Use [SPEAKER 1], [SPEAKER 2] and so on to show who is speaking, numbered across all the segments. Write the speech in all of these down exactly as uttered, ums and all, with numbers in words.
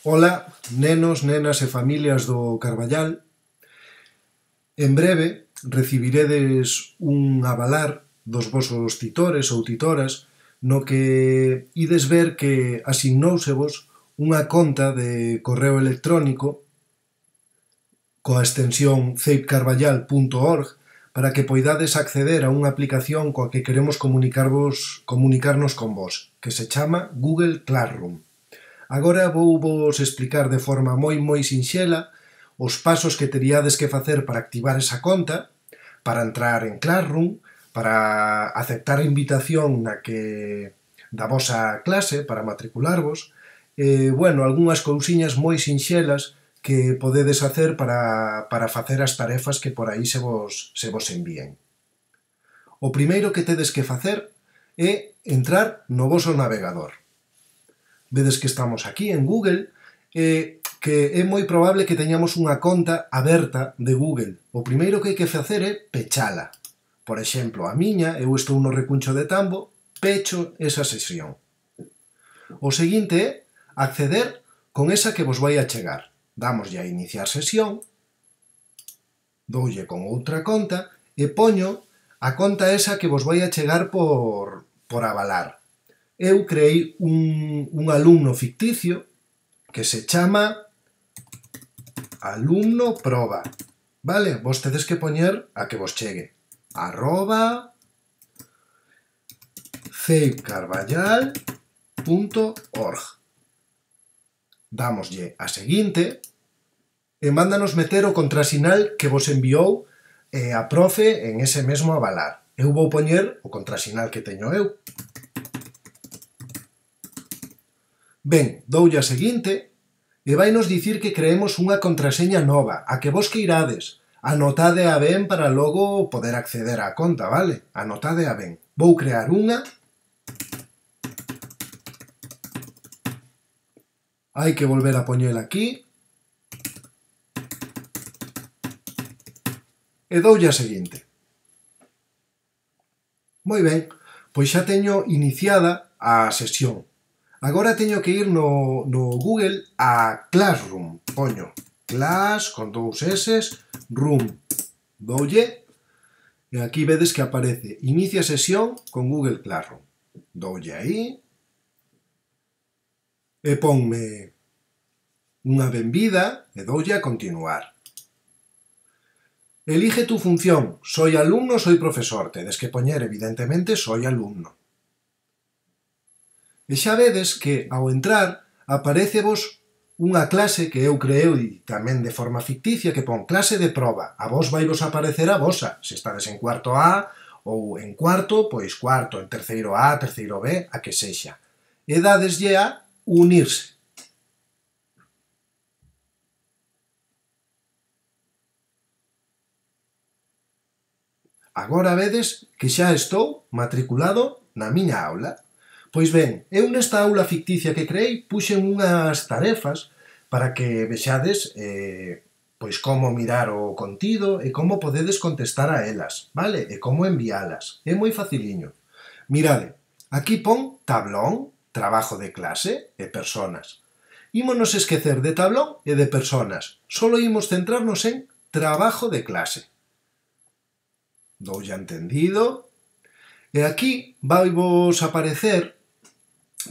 [SPEAKER 1] Ola, nenos, nenas e familias do Carballal. En breve recibiredes un avalar dos vosos titores ou titoras no que ides ver que asignóusevos unha conta de correo electrónico coa extensión ceip carballal punto org para que poidades acceder a unha aplicación coa que queremos comunicarvos, comunicarnos con vos, que se chama Google Classroom. Agora vou vos explicar de forma moi moi sinxela os pasos que teríades que facer para activar esa conta, para entrar en Classroom, para aceptar a invitación na que da vosa clase para matricularvos, e, bueno, algunhas cousiñas moi sinxelas que podedes facer para, para facer as tarefas que por aí se vos, se vos envíen. O primeiro que tedes que facer é entrar no voso navegador. Vedes que estamos aquí en Google, e que é moi probable que teñamos unha conta aberta de Google. O primeiro que hai que facer é pechala. Por exemplo, a miña, eu estou no recuncho de Tambo, pecho esa sesión. O seguinte é acceder con esa que vos vai a chegar. Dámoslle a iniciar sesión, doulle con outra conta e poño a conta esa que vos vai a chegar por, por avalar. Eu creei un, un alumno ficticio que se chama alumno proba. Vale? Vos tedes que poñer a que vos chegue. Arroba ceip carballal punto org. Dámoslle a seguinte e mándanos meter o contrasinal que vos enviou eh, a profe en ese mesmo avalar. Eu vou poñer o contrasinal que teño eu. Ben, doulle a seguinte e vai nos dicir que creemos unha contraseña nova, a que vos que irades. Anotade a ben para logo poder acceder á conta, vale? Anotade a ben. Vou crear unha. Hai que volver a poñela aquí. E doulle a seguinte. Moi ben, pois xa teño iniciada a sesión. Agora teño que ir no, no Google a Classroom. Poño Class con dous S, Room. Doulle. E aquí vedes que aparece Inicia sesión con Google Classroom. Doulle aí. E ponme unha benvida e doulle a continuar. Elige tu función. Soy alumno, soy profesor. Tedes que poñer, evidentemente, soy alumno. E xa vedes que, ao entrar, aparecevos unha clase que eu creei tamén de forma ficticia que pon clase de proba. A vos vai vos aparecer a vosa. Se estades en cuarto A ou en cuarto, pois cuarto, en terceiro A, terceiro B, a que sexa. E dadeslle a unirse. Agora vedes que xa estou matriculado na miña aula. Pois ben, eu nesta aula ficticia que creei puxen unhas tarefas para que vexades eh, pois como mirar o contido e como podedes contestar a elas, vale? E como envialas. É moi faciliño. Mirade, aquí pon tablón, trabajo de clase e personas. Ímonos esquecer de tablón e de personas. Solo imos centrarnos en trabajo de clase. Doulle a entendido. E aquí vai vos aparecer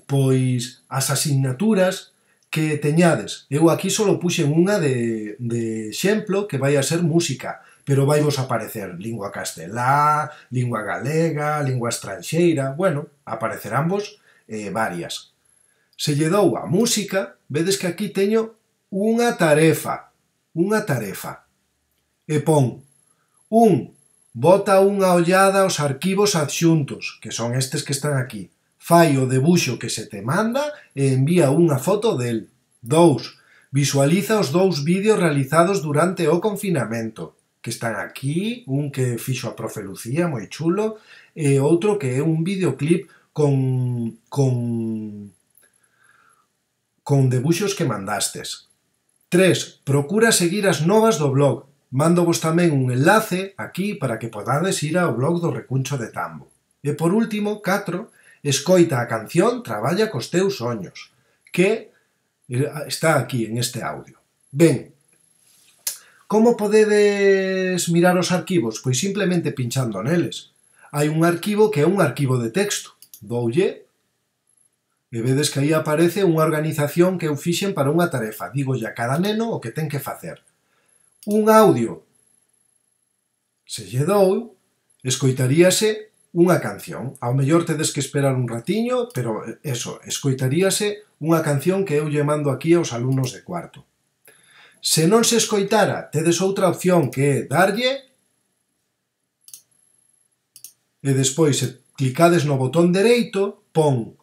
[SPEAKER 1] pois as asignaturas que teñades. Eu aquí só puxen unha de, de exemplo que vai a ser música, pero vai vos aparecer lingua castelá, lingua galega, lingua estranxeira, bueno, aparecerán vos eh, varias. Se lle dou a música, vedes que aquí teño unha tarefa, unha tarefa, e pon un, bota unha ollada aos arquivos adxuntos, que son estes que están aquí. Fai o debuxo que se te manda e envía unha foto del. Dous. Visualiza os dous vídeos realizados durante o confinamento, que están aquí, un que fixo a profe Lucía, moi chulo, e outro que é un videoclip con, con, con debuxos que mandastes. Tres. Procura seguir as novas do blog. Mándovos tamén un enlace aquí para que podades ir ao blog do Recuncho de Tambo. E por último, catro. Escoita a canción Traballa cos teus soños, que Está aquí, en este audio. Ben, como podedes mirar os arquivos? Pois simplemente pinchando neles. Hai un arquivo que é un arquivo de texto. Doulle, e vedes que aí aparece unha organización que eu fixen para unha tarefa. Dígolle a cada neno o que ten que facer. Un audio. Se lle dou, escoitaríase unha canción. Ao mellor tedes que esperar un ratiño, pero eso, escoitaríase unha canción que eu lle mando aquí aos alumnos de cuarto. Se non se escoitara, tedes outra opción que é darlle e despois, se clicades no botón dereito, pon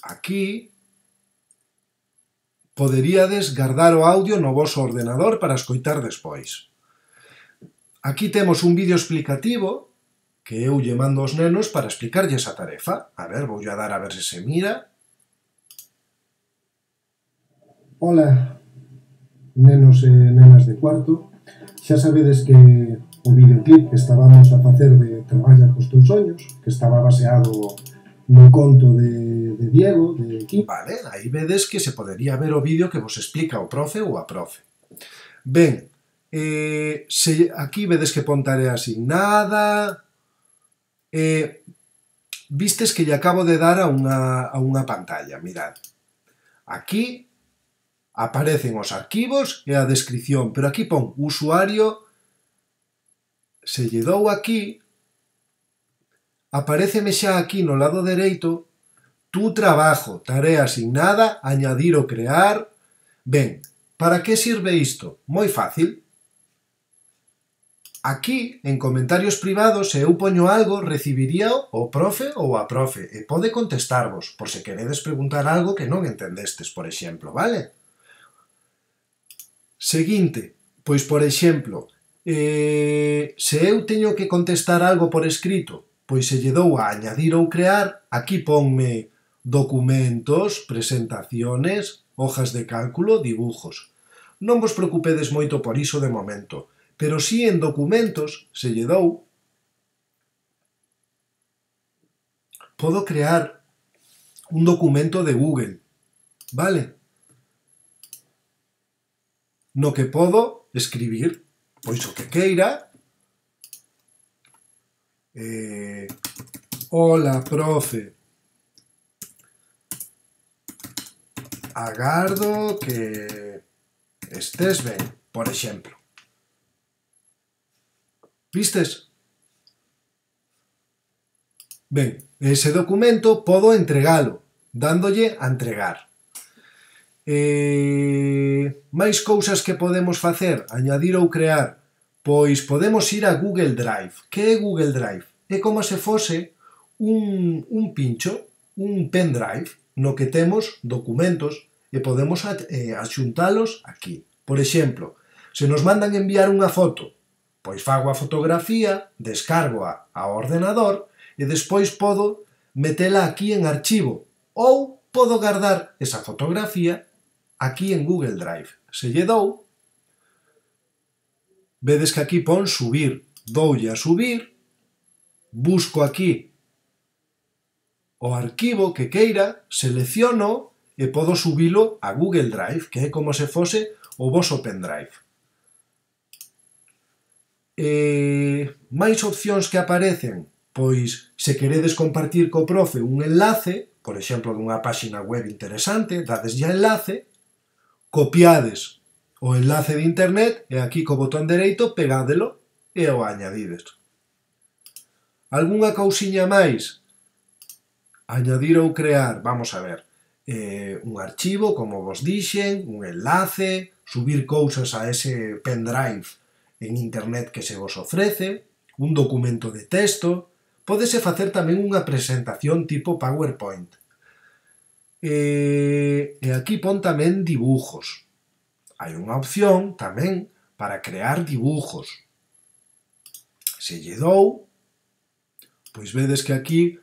[SPEAKER 1] aquí, poderíades guardar o audio no voso ordenador para escoitar despois. Aquí temos un vídeo explicativo que eu lle mando aos nenos para explicarlles a tarefa. A ver, voulle a dar a ver se se mira.
[SPEAKER 2] Ola, nenos e nenas de cuarto. Xa sabedes que o videoclip que estábamos a facer de Traballa cos teus soños, que estaba baseado no conto de, de Diego, de Kim.
[SPEAKER 1] Vale, aí vedes que se podería ver o vídeo que vos explica o profe ou a profe. Ben, eh, se aquí vedes que pon tarea asignada, eh, vistes que lle acabo de dar a unha, a unha pantalla, mirad. Aquí aparecen os arquivos e a descripción, pero aquí pon usuario, se lle dou aquí, apareceme xa aquí no lado dereito, tu trabajo, tarea asignada, añadir ou crear. Ben, para que sirve isto? Moi fácil. Aquí, en comentarios privados, se eu poño algo, recibiría o profe ou a profe, e pode contestarvos, por se queredes preguntar algo que non entendestes, por exemplo, vale? Seguinte, pois, por exemplo, eh, se eu teño que contestar algo por escrito, pois se lle dou a añadir ou crear, aquí ponme documentos, presentaciones, hojas de cálculo, dibujos. Non vos preocupedes moito por iso de momento, pero si en documentos, se lle dou, podo crear un documento de Google, vale? No que podo escribir, pois o que queira. Eh, Hola, profe. Agardo que estés ben, por exemplo. Vistes? Ben, ese documento podo entregalo, dándolle a entregar. Eh, máis cousas que podemos facer, añadir ou crear, pois podemos ir a Google Drive. Que é Google Drive? É como se fose un, un pincho, un pendrive, no que temos documentos e podemos eh, axuntalos aquí. Por exemplo, se nos mandan enviar unha foto, pois fago a fotografía, descargo-a ao ordenador e despois podo metela aquí en archivo ou podo guardar esa fotografía aquí en Google Drive. Se lle dou, vedes que aquí pon subir. Doulle a subir, busco aquí o arquivo que queira, selecciono e podo subilo a Google Drive, que é como se fose o voso pendrive. Eh, máis opcións que aparecen, pois se queredes compartir co profe un enlace, por exemplo, dunha páxina web interesante, dadeslle a enlace, copiades o enlace de internet e aquí co botón dereito pegádelo e o añadides. Algúnha cousiña máis? Añadir ou crear, vamos a ver, eh, un archivo, como vos dixen, un enlace, subir cousas a ese pendrive en internet que se vos ofrece, un documento de texto, pódese facer tamén unha presentación tipo PowerPoint. E, e aquí pon tamén dibujos. Hai unha opción tamén para crear dibujos. Se lle dou, pois vedes que aquí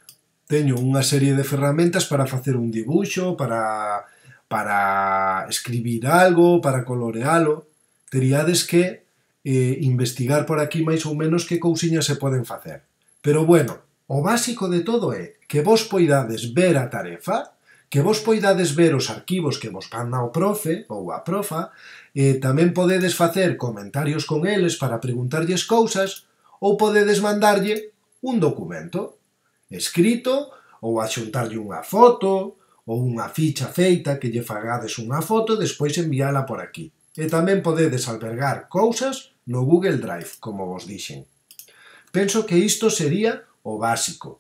[SPEAKER 1] teño unha serie de ferramentas para facer un dibuixo, para, para escribir algo, para colorealo. Teríades que eh, investigar por aquí máis ou menos que cousiñas se poden facer. Pero bueno, o básico de todo é que vos poidades ver a tarefa, que vos poidades ver os arquivos que vos manda o profe ou a profa, e tamén podedes facer comentarios con eles para preguntarlles cousas, ou podedes mandarlle un documento escrito, ou axuntarlle unha foto, ou unha ficha feita que lle fagades unha foto e despois enviala por aquí. E tamén podedes albergar cousas no Google Drive, como vos dixen. Penso que isto sería o básico,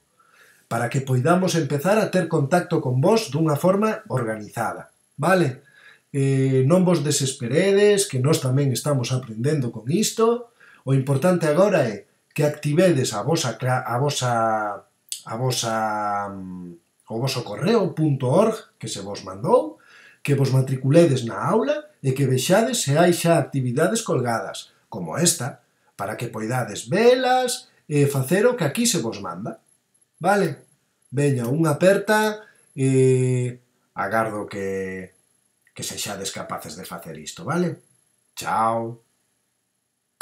[SPEAKER 1] para que poidamos empezar a ter contacto con vos dunha forma organizada, vale? Eh, non vos desesperedes, que nós tamén estamos aprendendo con isto. O importante agora é que activedes a vosa, a vosa, a vosa, o voso correo punto org que se vos mandou, que vos matriculedes na aula e que vexades se hai xa actividades colgadas, como esta, para que poidades velas e facer o que aquí se vos manda. Vale? Veña, unha aperta e agardo que, que sexades capaces de facer isto, vale? Chao!